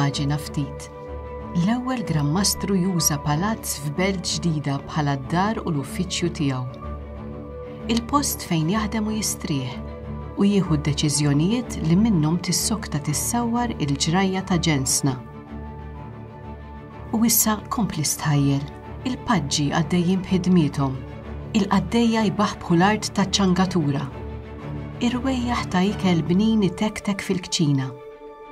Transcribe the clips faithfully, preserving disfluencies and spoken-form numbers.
Immaġina ftit. L-ewwel Gran Mastru juża palazz f'belt ġdida bħala d-dar u l-uffiċċju tiegħu. Il-post fejn jaħdem u jistrieħ u jieħu d-deċiżjonijiet li minnhom tissokta tissawwar il-ġrajja ta' ġensna. U issa kompli stħajjel, il-paġġi għaddejjin b'ħidmiethom, il-qaddejja jbaħbħu l-art taċ-ċangatura. Irwejjaħ ta' ikel bnin itektek fil-kċina.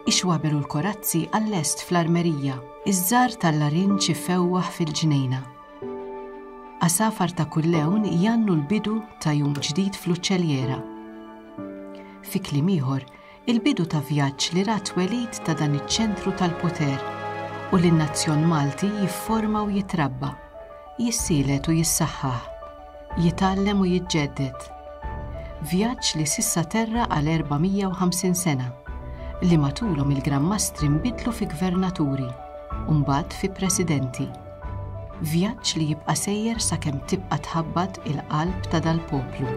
Ix-xwaber u l-korazzi għall-lest fl-armerija, iż-żar tal-larinġ ifewwaħ fil-ġnejna. Għasafar ta' kull lewn jannu l-bidu ta' jum ġdid fl-uċċeljera. Fi kliem ieħor, il-bidu ta' vjaġġ li ra twelid ta' dan iċ-ċentru tal-poter u li n-nazzjon Malti jifforma u jitrabba, jissielet u jissaħħaħ, jitgħallem u jiġġedded. Vjaġġ li s'issa terra għal erba' mija u ħamsin sena, li matulhom il-Gran Mastri nbidlu fi gvernaturi u mbagħad fi presidenti. Vjaġġ li jibqa' sejjer sakemm tibqa' tħabbat il-qalb ta' dal-poplu.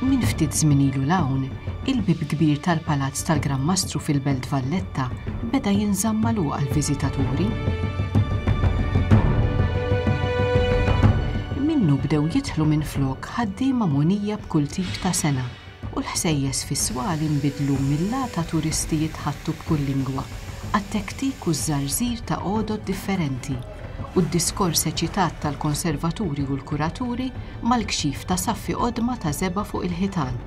Min ftit żmien ilu l-hawn, il-bib kbir tal-Palazz tal-Gran Mastru fil-Belt Valletta beda jinżamm magħluq għall-viżitaturi. Minnu bdew jidħlu minflok ħaddiema mogħnija b'kull tip ta' sena u l-ħsejjes fis-swali nbidlu mill-għata turisti jitħattu b'kull lingwa għat-tektik u ż-żarżir ta' għodod differenti u d-diskors eċitat tal-konservaturi u l-kuraturi mal-kxif ta' saffi qodma ta' żebgħa fuq il-ħitan.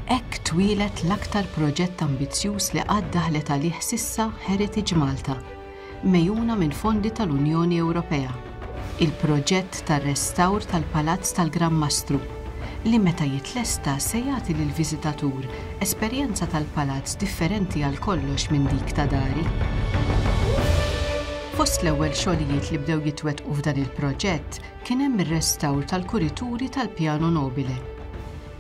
Hekk twieled l-aktar proġett ambizzjuż li qatt daħlet għalih sissa Heritage Malta, mejjuna minn fondi tal-Unjoni Ewropea. Il-proġett tar-restawr tal-Palazz tal-Gran Mastru, li meta jitlesta se jagħti lill-viżitatur esperjenza tal-palazz differenti għal kollox minn dik ta' dari. Fost l-ewwel xogħlijiet li bdew jitwettqu f'dan il-proġett kien hemm ir-restawr tal-kurituri tal-Piano Nobile.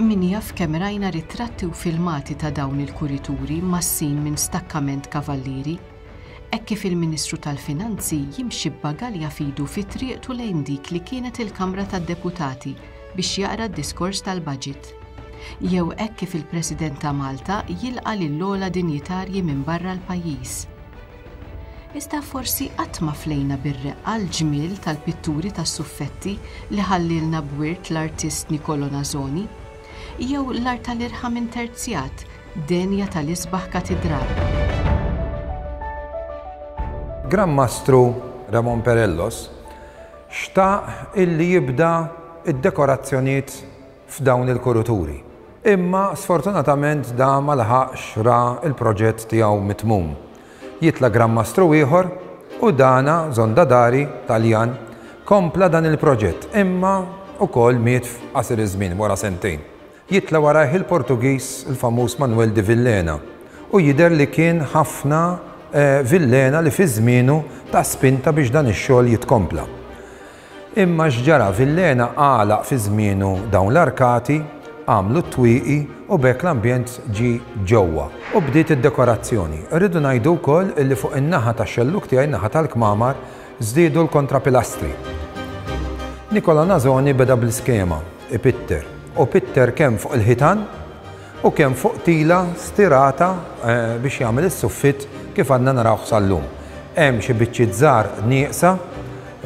Min jaf kemm rajna ritratti u filmati ta' dawn il-kurituri massin minn stakkament kavallieri, hekk kif il-Ministru tal-Finanzi jimxi b'bagalja fidu fi triqtu lejn dik li kienet il-Kamra tad-Deputati biex jaqra d-diskors tal-budget. Jew hekk kif il-President ta' Malta jilqa' lill-ogħla dinjitarji minn barra l-pajjiż. Iżda forsi qatt ma flejna bir-reqqa l-ġmiel tal-pitturi tas-suffetti li ħallilna b'wirt l-artist Nicolo Nasoni, jew l-art tal-irħam interzjat denja tal-isbaħ katidral. Gran Mastru Ramon Perellos xtaq illi jibda id-dekorazzjonijiet f'dawn il-kurituri. Imma sfortunatament da ma laħaqx ra il-proġett tiegħu mitmum. Jitla Gran Mastru ieħor u dana Zondadari Taljan kompla dan il-proġett, imma ukoll miet f'qasir iż-żmien wara sentejn. Jitla warajh il-Portugiż il-famuż Manuel de Villena u jidher li kien ħafna, eh, Villena li fi żmienu ta' spinta biex dan ix-xogħol jitkompla. Imma x'ġara, Villena għalaq fi żmienu dawn l-arkati, għamlu t-twieqi u b'hekk l-ambjent ġie ġewwa u bdiet id-dekorazzjoni. Irridu ngħidu wkoll illi fuq in-naħa tax-xelluk tiegħi, in-naħa tal-kmamar, żdiedu l-kontrapilastri. Nicola Nasoni beda bl-iskema, ipitter, u pitter kemm fuq il-ħitan u kemm fuq tila stirata, eh, biex jagħmel is-suffit kif għadna narawh sal-lum. Hemm xi biċċiet żgħar nieqsa,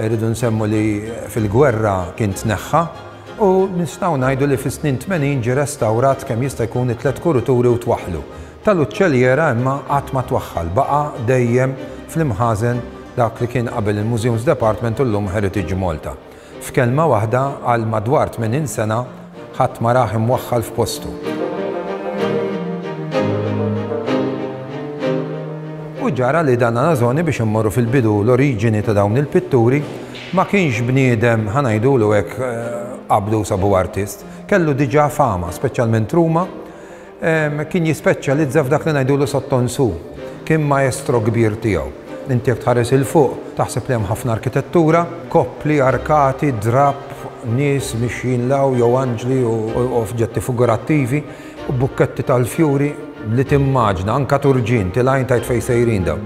rridu nsemmu li fil-gwerra kien tneħħa, u nistgħu ngħidu li fis-snin tmenin ġie restawrat kemm jista' jkun it-tliet kurituri u twaħħlu. Tal-uċċelliera imma qatt ma twaħħal, baqa' dejjem fl-imħażen dak li kien qabel il-Museums Department u llum Heritage Malta. F'kelma waħda għal madwar tmenin sena ħadd ma rah imwaħħal f'postu. U ġara li dan Nasoni, biex immorru fil-bidu l-oriġini ta' dawn il-pitturi, ma kienx bniedem, ħa ngħidulu hekk, eh, qabdu sabu artist, kellu diġà fama, speċjalment Ruma, em, kien jispeċjalizza f'dak li ngħidulu sottonsu, kien maestro kbir tiegħu. Inti jekk tħares il fuq, taħseb li hemm ħafna arkitettura, koppli, arkati, drapp, nies mixjin law jew anġli u, u oġġetti figurattivi u bukketti tal-fjuri li timmaġna, anka turġin, tilajn tajt fej sejrin daw.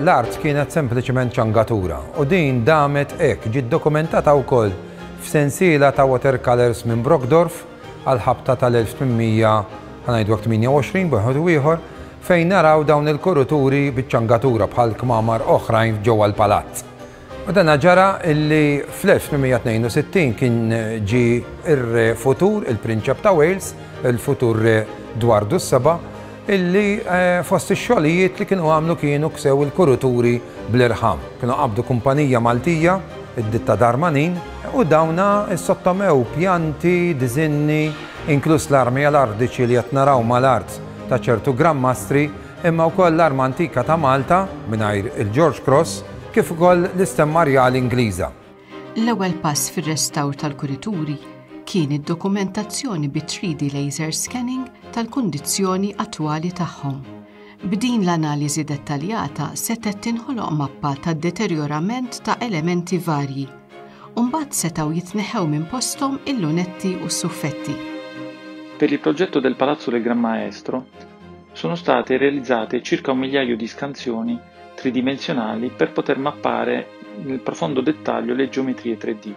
L-art kienet sempliċement ċangatura u din damet hekk, ġiet dokumentata wkoll f'sensiela ta' watercolors minn Brockdorff għal-ħabta tal-elf tmien mija, ħa ngħidu tmienja u għoxrin, b'wieħed u ieħor, fejn naraw dawn il-kuruturi biċ-ċangatura bħal kmamar oħrajn ġewwa l-palazz. U dan ġara illi fl-elf tmien mija tnejn u sittin kien ġi ir-re futur, il-Prinċep ta' Wales, il-futur re Dwardu s-Seba', illi eh, fost ix-xogħlijiet li kienu għamlu kienu ksew il-kuruturi bl-irħam. Kienu qabdu kumpanija Maltija, id-ditta Darmanin, u dawna sottomew pjanti, diżinni, inkluż l-armi għal-ardiċi li qed naraw mal-art ta' ċertu Gran Mastri, imma wkoll l-arma antika ta' Malta mingħajr il-George Cross, kif ukoll l-istemma rjali Ingliża. L-ewwel pass fir-restawr tal-kurituri kien id-dokumentazzjoni bi three D laser scanning tal-kundizzjoni attwali tagħhom. B'din l-analiżi dettaljata setet tinħoloq mappa tad-deterjorament ta' elementi varji. Mbagħad setgħu jitneħħew minn posthom il-lunetti u s-suffetti. Per il progetto del Palazzo del Gran Maestro sono state realizzate circa un migliaio di scansioni tridimensionali per poter mappare nel profondo dettaglio le geometrie tre D.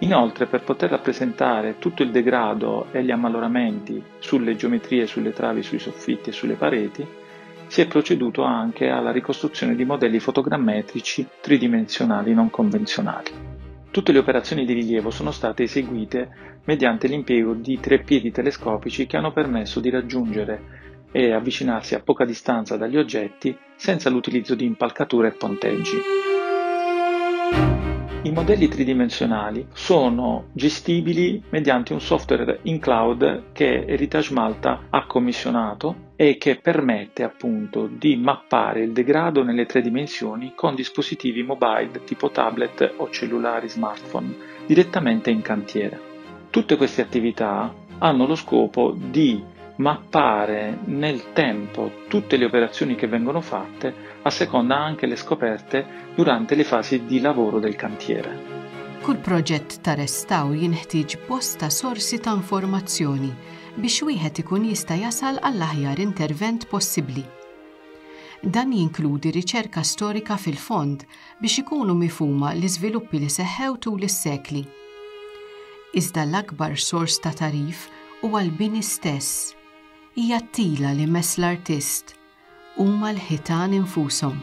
Inoltre, per poter rappresentare tutto il degrado e gli ammaloramenti sulle geometrie, sulle travi, sui soffitti e sulle pareti, si è proceduto anche alla ricostruzione di modelli fotogrammetrici tridimensionali non convenzionali. Tutte le operazioni di rilievo sono state eseguite mediante l'impiego di treppiedi telescopici che hanno permesso di raggiungere e avvicinarsi a poca distanza dagli oggetti senza l'utilizzo di impalcature e ponteggi. I modelli tridimensionali sono gestibili mediante un software in cloud che Heritage Malta ha commissionato e che permette appunto di mappare il degrado nelle tre dimensioni con dispositivi mobile tipo tablet o cellulari smartphone direttamente in cantiere. Tutte queste attività hanno lo scopo di mappare nel tempo tutte le operazioni che vengono fatte a seconda anche le scoperte durante le fasi di lavoro del cantiere. Kull proġett ta' restawr jinħtieġ bosta sorsi ta' informazzjoni biex wieħed ikun jista' jasal għall-aħjar intervent possibbli. Dan jinkludi riċerka storika fil-fond biex ikunu mifhuma l-iżviluppi li seħħew tul is-sekli. Iżda l-akbar sors ta' tagħrif huwa l-bini stess. Hija t-tila li mess l-artist, huma l-ħitan infushom.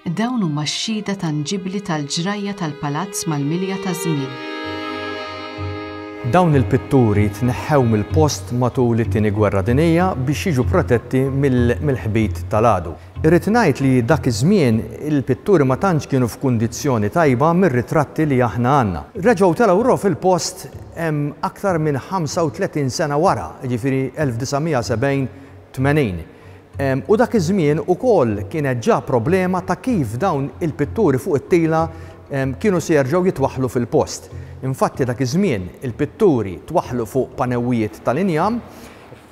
Dawn huma x-xhieda tanġibli tal-ġrajja tal-palazz mal-milja ta' żmien. Dawn il-pitturi tneħħew mill-post matul it-Tieni Gwerra Dinjija biex jiġu protetti mill-ħbit tal-għadu. Irrid ngħid li dak iż-żmien il-pitturi ma tantx kienu f'kundizzjoni tajba mir-ritratti li aħna għandna. Reġgħu telgħu fil-post aktar minn ħamsa u tletin sena wara, jiġifieri elf disa' mija sebgħin tmenin. U dak iż-żmien ukoll kienet ġa problema ta' kif dawn il-pitturi fuq it-tila kienu se jerġgħu jitwaħħlu fil-post. Infatti dak iż-żmien il-pitturi twaħħlu fuq panewijiet tal-injam,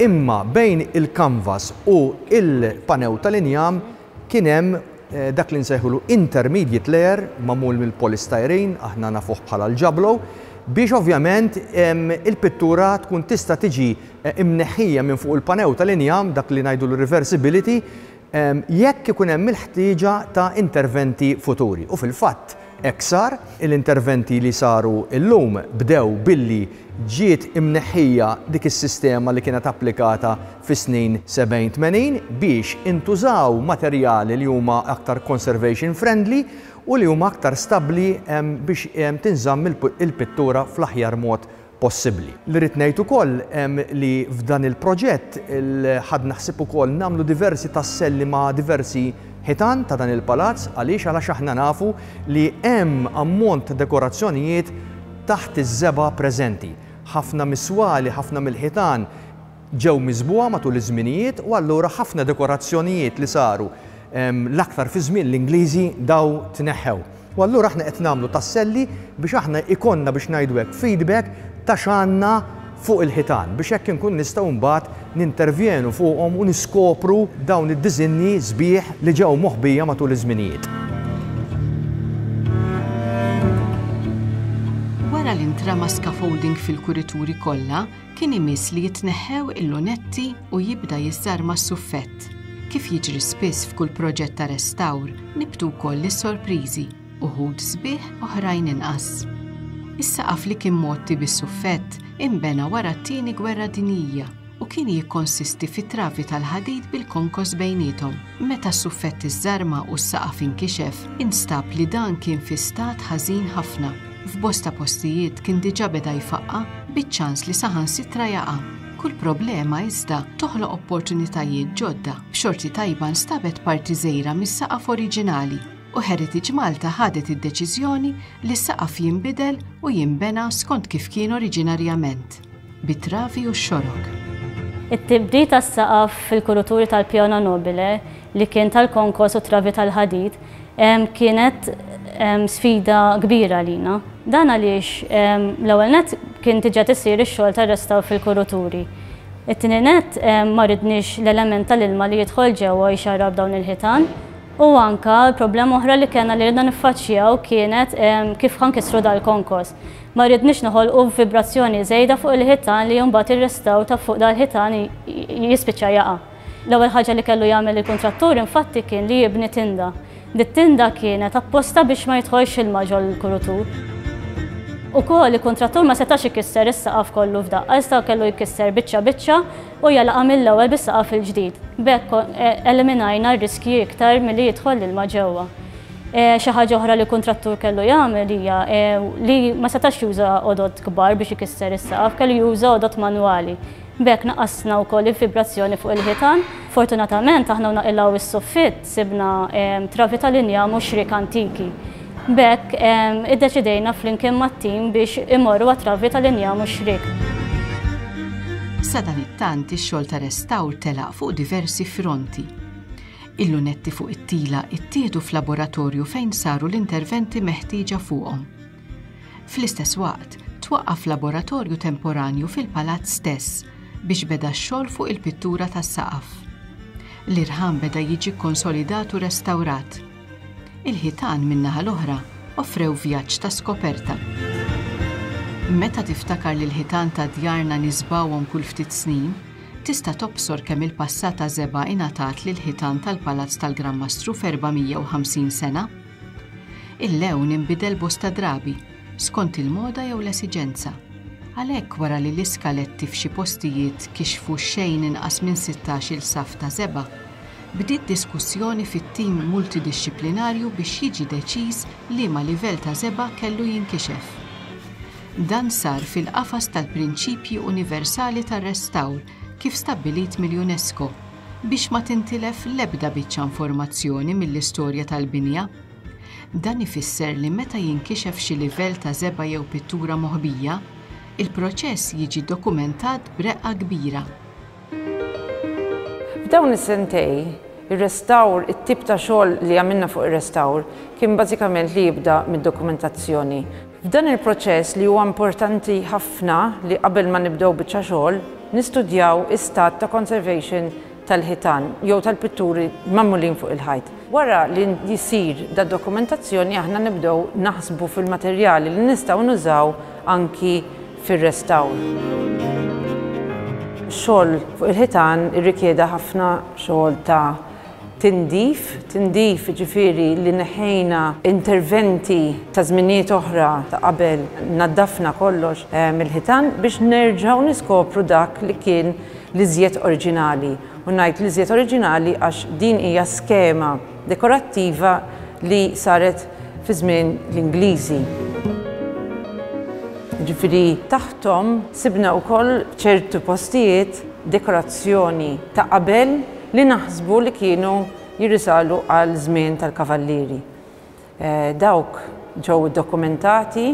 imma bejn il-canvas u il-panew tal-injam kien hemm eh, dak li nsejħulu intermediate layer magħmul mill-polystyrene, aħna nafuh bħala l-ġablo, biex ovvjament il-pittura tkun tista' tiġi eh, imneħħija minn fuq il-panew tal-injam, dak li ngħidu l-reversibility, jekk ikun hemm il-ħtieġa ta' interventi futuri. U fil-fatt, hekk sar, l-interventi li saru illum bdew billi ġiet imneħħija dik is-sistema li kienet applikata fis-snin sebgħin tmenin biex intużaw materjali li huma aktar conservation friendly u li huma aktar stabbli biex tinżamm il-pittura fl-aħjar mod possibbli. Li rrid ngħid ukoll li f'dan il-proġett ħadna ħsieb ukoll nagħmlu diversi tasselli ma' diversi ħitan ta' dan il-palazz. Għaliex? Għalax aħna nafu li hemm ammont ta' dekorazzjonijiet taħt iż-żebgħa preżenti. Ħafna mis-swali, ħafna mill-ħitan ġew miżbugħa matul iż-żminijiet u allura ħafna dekorazzjonijiet li saru l-aktar fi żmien l-Ingliżi daw tneħħew. U allura aħna qed nagħmlu tasselli biex aħna ikollna, biex ngħidu hekk, feedback ta' x'għandna fuq il-ħitan biex hekk inkun nistgħu mbagħad nintervjenu fuqhom u niskopru dawn id-diżinni sbieħ li ġew moħbija matul iż-żminijiet. Wara li ntrama scaffolding fil-kurituri kollha, kien imiss li jitneħħew il-lunetti u jibda jiżżarma s-suffett. Kif jiġri spiss f'kull proġett ta' restawr, nibtu wkoll is-sorpriżi, uħud sbieħ, oħrajn inqas. Is-saqaf li kien mgħotti bis-suffett imbena wara t-Tieni Gwerra Dinjija u kien jikkonsisti fi travi tal-ħadid bil-konkos bejniethom. Meta s-suffett iżżarma u s-saqaf inkixef, instab li dan kien fi stat ħażin ħafna. F'bosta postijiet kien diġà beda jfaqqa' biċ-ċans li saħansitra jaqa'. Kull problema iżda toħloq opportunitajiet ġodda. B'xorti tajba nstabet parti żgħira mis-saqaf oriġinali u Heritage Malta ħadet id-deċiżjoni li s-saqaf jinbidel u jinbena skont kif kien oriġinarjament, bit-travi u x-xorok. It-tibdil tas-saqaf fil-kuruturi tal-Piano Nobile li kien tal-konkos u travi tal-ħadid kienet sfida kbira lina. Dan għaliex l-ewwel nett kien diġà tisir ix-xogħol tar-restawr fil-kuruturi. It-tieni nett ma ridniex l-element tal-ilma li jidħol ġewwa jxarrab dawn il-ħitan. U anka problema oħra li kellna li ridna niffaċċjaw kienet kif ħankisru dal-konkos. Ma ridniex noħolqu vibrazzjoni żejda fuq il-ħitan li mbagħad ir-restawr ta' fuq dal-ħitan jispiċċa jaqa'. L-ewwel ħaġa li kellu jagħmel il-kuntrattur infatti kien li jibni tinda. Dit-tinda kienet apposta biex ma jidħolx ilma ġol-kurutur. Ukoll il-kuntrattur ma setax ikisser is-saqaf kollu f'daqqa, iżda kellu jkisser biċċa biċċa u jalaqa' mill-ewwel bis-saqaf il-ġdid. B'hekk eliminajna r-riskji iktar milli jidħol l-ilma ġewwa. Xi ħaġa oħra li l-kuntrattur kellu jagħmel hija li ma setax juża għodod kbar biex ikisser is-saqaf, kellu juża għodod manwali. B'hekk naqasna wkoll il-vibrazzjoni fuq il-ħitan. Fortunatament aħna naqilgħu is-soffitt sibna travi tal-injam u xrik antiki. B'hekk iddeċidejna flimkien mat-tim biex imorru għat-travi tal-injam u xrik. Sadanittant ix-xogħol ta' restawr telaq fuq diversi fronti. Il-lunetti fuq it-tila ittieħdu f'laboratorju fejn saru l-interventi meħtieġa fuqhom. Fl-istess waqt, twaqqaf laboratorju temporanju fil-palazz stess biex beda x-xogħol fuq il-pittura tas-saqaf. L-irħam beda jiġi konsolidat u restawrat. Il-ħitan min-naħa l-oħra offrew vjaġġ ta' skoperta. Meta tiftakar li l-ħitan ta' djarna nisbawhom kull ftit snin, tista' tobsor kemm il-passata żebgħa ingħatat lil ħitan tal-Palazz tal-Gran Mastru f'erba' mija u ħamsin sena. Il-lewn inbidel bosta drabi, skont il-moda jew l-esiġenza. Għalhekk wara li l-iskaletti f'xi postijiet kixfu xejn inqas minn sittax-il saf ta' żebgħa, bdiet diskussjoni fit-tim multidixxiplinarju biex jiġi deċiż liema livell ta' żebgħa kellu jinkixef. Dan sar fil-qafas tal-prinċipji universali tar-restawr kif stabbilit mill-UNESCO biex ma tintilef l-ebda biċċa informazzjoni mill-istorja tal-binja. Dan ifisser li meta jinkixef xi livell ta' żebgħa jew pittura moħbija, il-proċess jiġi dokumentat b'reqqa kbira. F'dawn is-sentej, ir-restawr, it-tip ta' xogħol li għamilna fuq ir-restawr kien bażikament li jibda mid-dokumentazzjoni. F'dan il-proċess li huwa importanti ħafna li qabel ma nibdew biċċa xogħol, nistudjaw is-stat ta' conservation tal-ħitan jew tal-pitturi magħmulin fuq il-ħajt. Wara li jisir da dokumentazzjoni aħna nibdew naħsbu fil-materjali li nistgħu nużaw anki fir-restawr. Xogħol fuq il-ħitan irrikjeda ħafna xogħol ta' tindif, tindif ġifieri li neħejna interventi ta' żminijiet oħra ta' qabel naddafna kollox, eh, mill-ħitan biex nerġgħu niskopru dak li kien l-iżjed oriġinali. U ngħid l-iżjed oriġinali għax din hija skema dekorattiva li saret fi żmien l-Ingliżi. Ġifieri taħtom sibna wkoll ċertu postijiet dekorazzjoni ta' qabel li naħsbu li kienu jirrisalu għal żmien tal-kavallieri. Eh, dawk ġew dokumentati.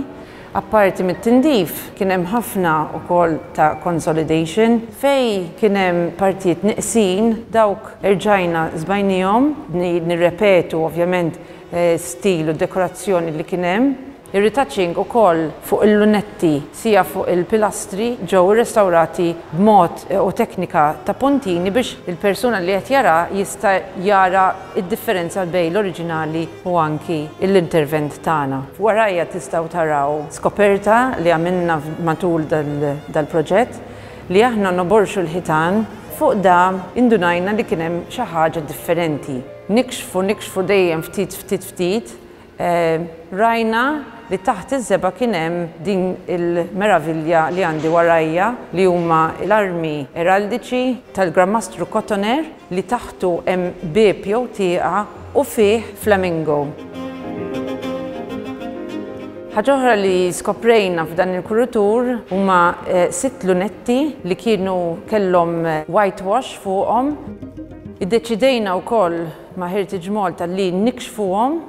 Apparti mit-tindif kien hemm ħafna wkoll ta' consolidation fej kien hemm partijiet neqsin, dawk erġajna żbajnihom, nirrepetu ovvjament, eh, stil u dekorazzjoni li kien hemm. Ir-retouching ukoll fuq il-lunetti sija fuq il-pilastri ġew irrestawrati b'mod u teknika ta' puntini biex il-persuna li qed jara jista' jara id-differenza bejn l-oriġinali u anki l-intervent tagħna. Warajja tistgħu taraw skoperta li għamilna matul dal-proġett li aħna noborxu l-ħitan Fuq da indunajna li kien hemm xi ħaġa differenti. Nikxfu, nikxfu dejjem ftit, ftit, ftit, rajna li taħt iż-żebgħa kien hemm din il-meravilja li għandi warajja li huma l-armi eraldiċi tal-Gran Mastru Cotoner li taħtu hemm bieb jew tieqa u fih flamingo. Ħaġa oħra li skoprejna f'dan il-kuritur huma sitt lunetti li kienu kellhom whitewash fuqhom. Iddeċidejna wkoll ma' Heritage Malta li nikxfuhom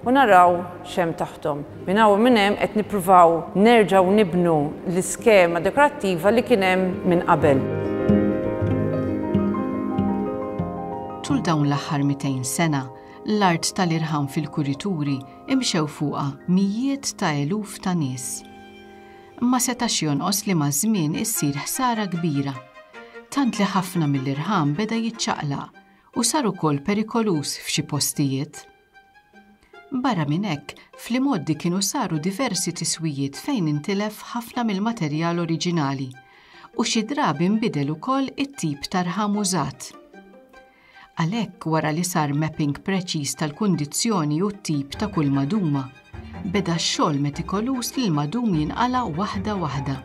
u naraw x'hemm taħthom. Minn hawn u minn hemm qed nippruvaw nerġgħu nibnu l-iskema dekorattiva li kien hemm minn qabel. Tul dawn l-aħħar mitejn sena, l-art tal-irħam fil-kurituri imxew fuqha mijiet ta' eluf ta' nies. Ma setax jonqos li maż-żmien issir ħsara kbira, tant li ħafna mill-irħam beda jiċċaqlaq u sar ukoll perikoluż f'xi postijiet. Barra minn hekk, fl-imgħoddi kienu saru diversi tiswijiet fejn intilef ħafna mill-materjal oriġinali u xi drabi nbidel ukoll it-tip ta' rħam użat. Għalhekk wara li sar mapping preċiż tal-kundizzjoni u t-tip ta' kull maduma, beda x-xogħol metikoluż li l-madum jinqala' waħda waħda.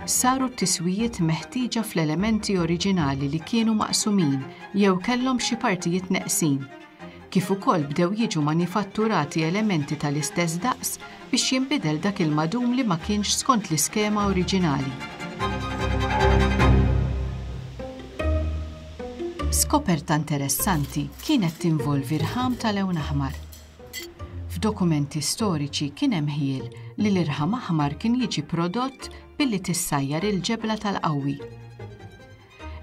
Saru t-tiswijiet meħtieġa fl-elementi oriġinali li kienu maqsumin jew kellhom xi partijiet neqsin, kif ukoll bdew jiġu manifatturati elementi tal-istess daqs biex jinbidel dak il-madum li ma kienx skont l-iskema oriġinali. Skoperta interessanti kienet tinvolvi rħam tal-lewn aħmar. F'dokumenti storiċi kien hemm ħiel li l-irħam aħmar kien jiġi prodott billi tissajjar il-ġebla tal-qawwi.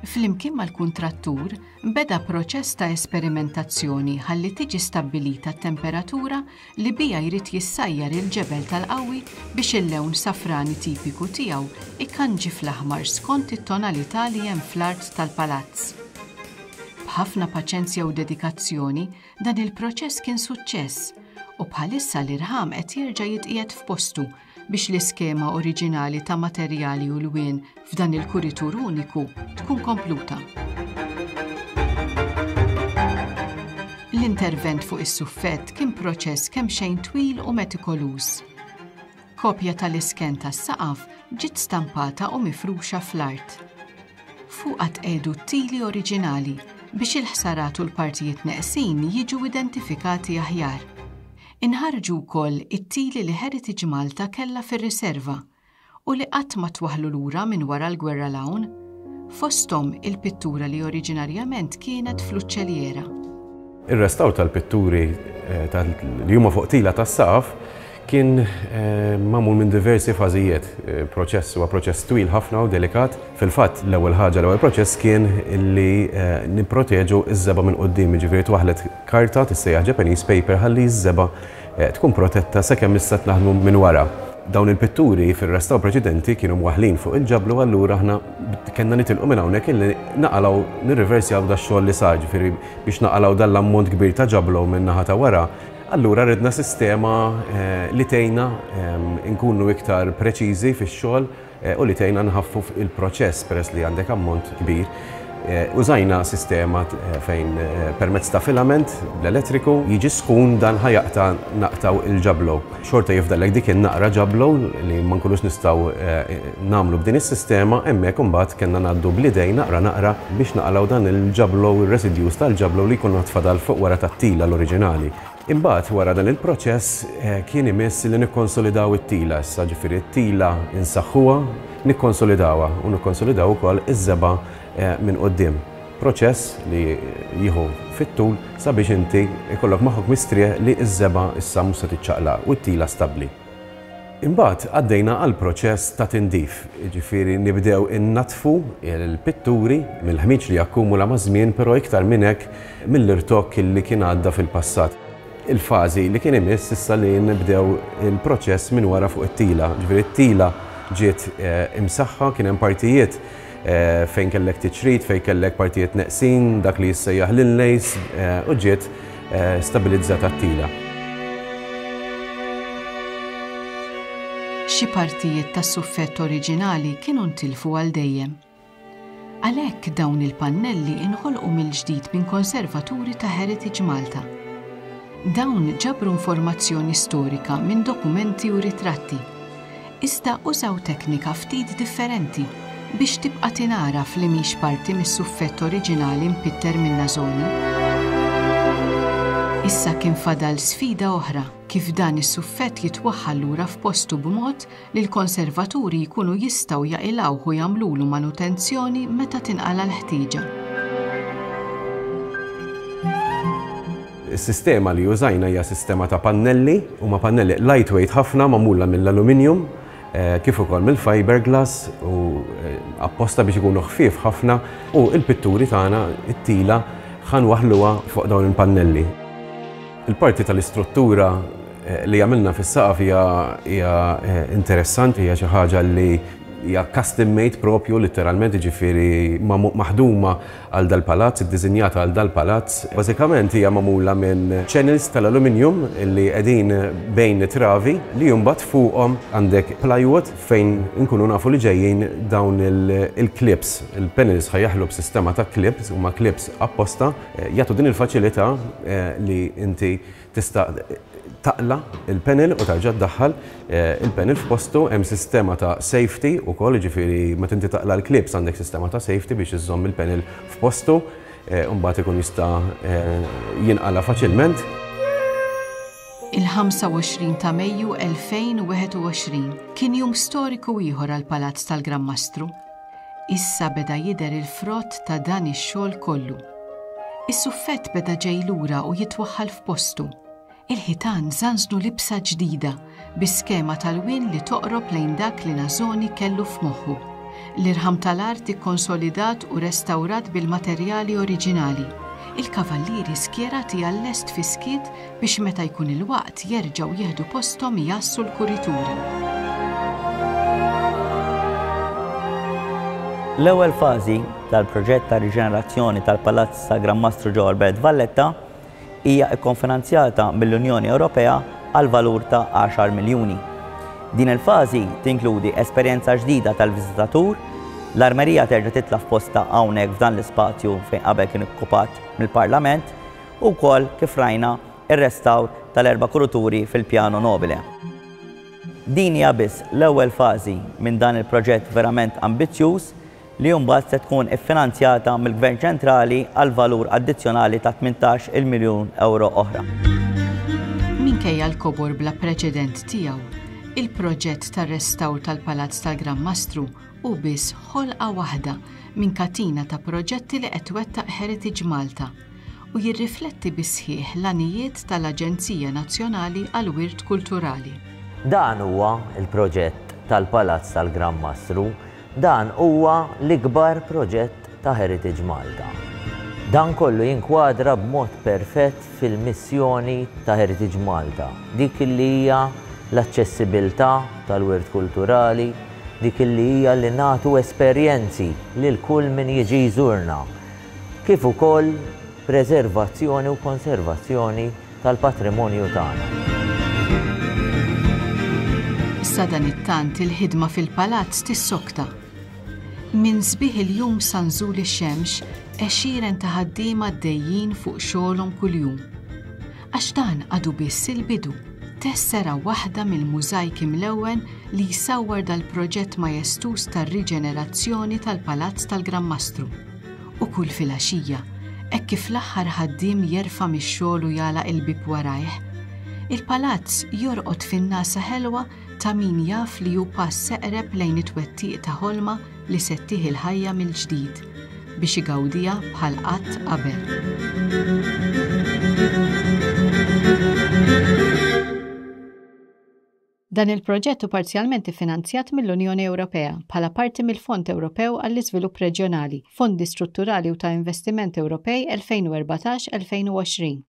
Flimkien mal-kuntrattur beda proċess ta' esperimentazzjoni ħalli tiġi stabbilita t-temperatura li bija jrid jissajjar il-ġebel tal-qawwi biex il-lewn safrani tipiku tiegħu ikanġi fl-aħmar skont it-tonalità li hemm fl-art tal-palazz. B'ħafna paċenzja u dedikazzjoni dan il-proċess kien suċċess u bħalissa l-irħam qed jerġa' jitqiegħed f'postu biex l-iskema oriġinali ta' materjali u lwien f'dan il-kuritur uniku tkun kompluta. L-intervent fuq is-suffett kien proċess kemm xejn twil u metikoluż. Kopja tal-isken tas-saqaf ġiet stampata u mifruxa fl-art. Fuqha tqiegħdu t-tili oriġinali biex il-ħsarat u l-partijiet neqsin jiġu identifikati aħjar. Inħarġu wkoll it-tili li Heritage Malta kellha fir-riserva u li qatt ma twaħħlu lura minn wara l-gwerra l-hawn, fosthom il-pittura li oriġinarjament kienet fl-uċċelliera. Ir-restawr tal-pitturi li huma fuq tila tas-saqaf kien magħmul minn diversi fażijiet. Proċess huwa proċess twil ħafna u delikat. Fil-fatt l-ewwel ħaġa, l-ewwel proċess kien li nipproteġu ż-żebgħa minn quddiem, jiġifieri twaħħlet karta tissejjaħ Japanese paper ħalli ż-żebgħa tkun protetta sakemm issa naħdmu minn wara. Dawn il-pitturi fir-restawr preċedenti kienu mwaħħlin fuq il-ġablu, allura aħna kellna nitilqu minn hawnhekk illi naqalgħu nirriversjaw dax-xogħol li sar, ġifieri biex naqalgħu dan l-ammont kbir ta' ġablu minn naħa ta' wara. Allura ridna sistema li tgħinna nkunu iktar preċiżi fix-xogħol u li tgħinna nħaffu il-proċess peress li għandek ammont kbir. Użajna sistema fejn permezz ta' filament bl-elettriku jiġi sħun dan ħajaqta naqtaw il-ġablow. Xorta jifdallek dik in-naqra ġablow li ma nkunux nistgħu nagħmlu b'din is-sistema, hemmhekk imbagħad kellna ngħaddu bl-idej naqra naqra biex naqalgħu dan il-ġablow, ir-residus tal-ġablow li jkunu tfadal fuq wara tat-tila l-oriġinali. Imbagħad wara dan il-proċess kien imiss li nikkonsolidaw it-tila issa, ġifieri t-tila insaħħuha, nikkonsolidawha u nikkonsolidaw ukoll iż-żebgħa minn quddiem. Proċess li jieħu fit-tul sabiex inti ikollok moħħok mistrieħ li ż-żebgħa issa mhux se tiċċaqlaq u t-tila stabbli. Imbagħad għaddejna għal proċess ta' tindif, jiġifieri nibdew innatfu l-pitturi mill-ħmiġ li jakkumula maż-żmien, però iktar minn hekk mill-irtokk li kien għadda fil-passat. Il-fażi li kien imiss issa li nibdew il-proċess minn wara fuq it-tila. Ġifieri t-tila ġiet imsaħħa, kien hemm partijiet fejn kellek tiċrid, fejn kellek partijiet neqsin, dak li jissejjaħ l-inlays, u ġiet stabilizzata t-tila. Xi partijiet tas-suffett oriġinali kienu ntilfu għal dejjem. Għalhekk dawn il-pannelli inħolqu mill-ġdid minn konservaturi ta' Heritage Malta. Dawn ġabru informazzjoni storika minn dokumenti u ritratti. Iżda użaw teknika ftit differenti biex tibqa' tingħaraf li mhix parti mis-suffett oriġinali mpitter minn Nasoni. Issa kien fadal sfida oħra kif dan is-suffett jitwaħħal lura f'postu b'mod li l-konservaturi jkunu jistgħu jaqilgħuh u jagħmlulu manutenzjoni meta tinqala l-ħtieġa. Is-sistema li użajna hija sistema ta' pannelli, huma pannelli lightweight ħafna magħmula mill-aluminium, kif ukoll mill-fiberglass u apposta biex ikunu ħfief ħafna, u l-pitturi tagħna it-tila ħa nwaħħluha fuq dawn il-pannelli. Il-parti tal-istruttura li għamilna fis-saqaf hija interessanti, hija xi ħaġa li hija custom made propju, literalment, jiġifieri maħduma għal dal-palazz, iddisinjata għal dal-palazz. Bażikament hija magħmula minn channels tal-aluminium li qegħdin bejn travi li mbagħad fuqhom għandek plywood fejn inkunu nafu li ġejjin dawn il-clips. Il-panels ħa jaħlu b'sistema ta' clips, huma clips apposta, jagħtu din il-faċilità li inti tista' taqla il-panel u tarġa' ddaħħal il-panel f'postu. Hemm sistema ta' safety ukoll, jiġifieri meta inti taqla l-clips għandek sistema ta' safety biex iżżomm il-panel f'postu, u mbagħad ikun jista' jinqala faċilment. Il-ħamsa u għoxrin ta' Mejju elfejn u wieħed u għoxrin kien jum storiku ieħor għall-Palazz tal-Gran Mastru. Issa beda jidher il-frott ta' dan ix-xogħol kollu. Is-suffett beda ġej lura u jitwaħħal f'postu. Il-ħitan żanżnu libsa ġdida bi skema tal-wien li toqrob lejn dak li Nasoni kellu f'moħħu. L-irħam tal-art ikkonsolidat u restawrat bil-materjali oriġinali. Il-kavallieri skjerati għall-lest fiskiet biex meta jkun il-waqt jerġgħu jieħdu posthom jassu l-kurituri. L-ewwel fażi tal-proġett ta' riġenerazzjoni tal-Palazz ta' Gran Mastru ġewwa l-Belt Valletta hija kkonfinanzjata mill-Unjoni Ewropea għal valur ta' għaxar miljuni. Din il-fażi tinkludi esperjenza ġdida tal-viżitatur, l-armerija terġa' titla' f'posta hawnhekk f'dan l-ispazju fejn qabel kien okkupat mill-Parlament, u wkoll kif rajna ir-restawr tal-erba' kuruturi fil-Piano Nobile. Din hija biss l-ewwel fażi minn dan il-proġett verament ambizzjuż li mbagħad se tkun iffinanzjata mill-Gvern Ċentrali għal valur addizzjonali ta' tmintax il miljun euro oħra. Minkejja l-kobor bla preċedent tiegħu, il-proġett tar-restawr tal-Palazz tal-Gran Mastru hu biss ħolqa waħda minn katina ta' proġetti li qed twettaq Heritage Malta u jirrifletti bisħieħ l-għanijiet tal-Aġenzija Nazzjonali għall-Wirt Kulturali. Dan huwa il-proġett tal-Palazz tal-Gran Mastru. Dan huwa l-ikbar proġett ta' Heritage Malta. Dan kollu jinkwadra b'mod perfett fil-missjoni ta' Heritage Malta, dik li hija l-aċċessibilità tal-wirt kulturali, dik li hija li nagħtu esperjenzi lil kull min jiġi jżurna, kif ukoll preservazzjoni u konservazzjoni tal-patrimonju tagħna. Sadanittant il-ħidma fil-palazz tissokta. Minn sbieħ il-jum sa nżul ix-xemx, għexieren ta' ħaddiema għaddejjin fuq xogħolhom kuljum. Għax dan għadu biss il-bidu, tessera waħda mill-mużajk imlewwen li jsawwar dal-proġett majestuż tar-riġenerazzjoni tal-Palazz tal-Gran Mastru. U kull filgħaxija, hekk kif l-aħħar ħaddiem jerfa' mix-xogħol u jagħlaq il-bieb warajh, il-palazz jorqod fin-nasa ħelwa ta' min jaf li hu pass eqreb lejn it-twettiq ta' ħolma li settih il-ħajja mill-ġdid biex igawdiha bħal qatt qabel. Dan il-proġett hu parzjalment iffinanzjat mill-Unjoni Ewropea bħala parti mill-Fond Ewropew għall-Iżvilupp Reġjonali, Fondi Strutturali u ta' Investiment Ewropej elfejn u erbatax elfejn u għoxrin.